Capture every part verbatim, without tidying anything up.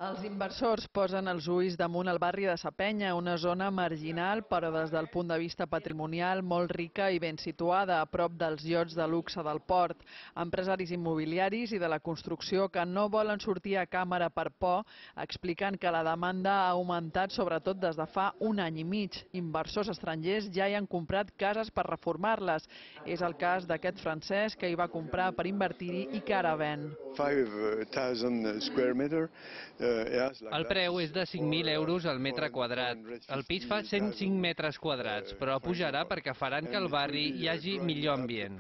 Els inversors posen els ulls damunt el barri de Sa Penya, una zona marginal però des del punt de vista patrimonial molt rica i ben situada, a prop dels iots de luxe del port. Empresaris immobiliaris i de la construcció que no volen sortir a càmera per por expliquen que la demanda ha augmentat sobretot des de fa un any i mig. Inversors estrangers ja hi han comprat cases per reformar-les. És el cas d'aquest francès que hi va comprar per invertir-hi i que ara ven. El preu és de cinc mil euros al metre quadrat. El pis fa cent cinc metres quadrats, però pujarà perquè faran que al barri hi hagi millor ambient.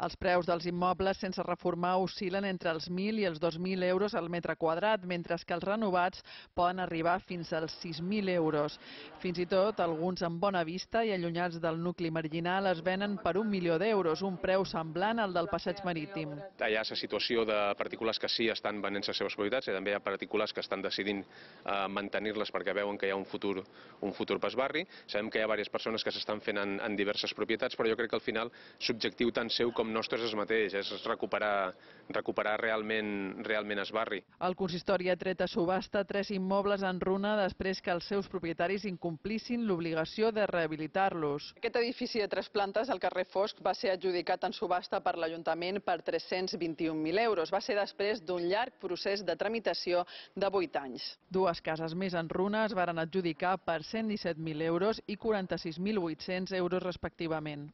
Els preus dels immobles sense reformar oscil·len entre els mil i els dos mil euros al metre quadrat, mentre que els renovats poden arribar fins als sis mil euros. Fins i tot, alguns amb bona vista i allunyats del nucli marginal es venen per un milió d'euros, un preu semblant al del passeig marítim. Hi ha la situació de particulars que sí estan venent les seves propietats i també hi ha particulars que estan decidint eh, mantenir-les perquè veuen que hi ha un futur, un futur pas barri. Sabem que hi ha diverses persones que s'estan fent en, en diverses propietats, però jo crec que al final l'objectiu tant seu com nostre és el mateix, és recuperar, recuperar realment, realment el barri. El consistori ha tret a subhasta tres immobles en runa després que els seus propietaris incomplissin l'obligació de rehabilitar-los. Aquest edifici de tres plantes al carrer Fosc va ser adjudicat en subhasta per l'Ajuntament per tres-cents vint-i-un mil euros. Va ser després d'un llarg procés de tramitació de vuit anys. Dues cases més en runa es varen adjudicar per cent disset mil euros i quaranta-sis mil vuit-cents euros respectivament.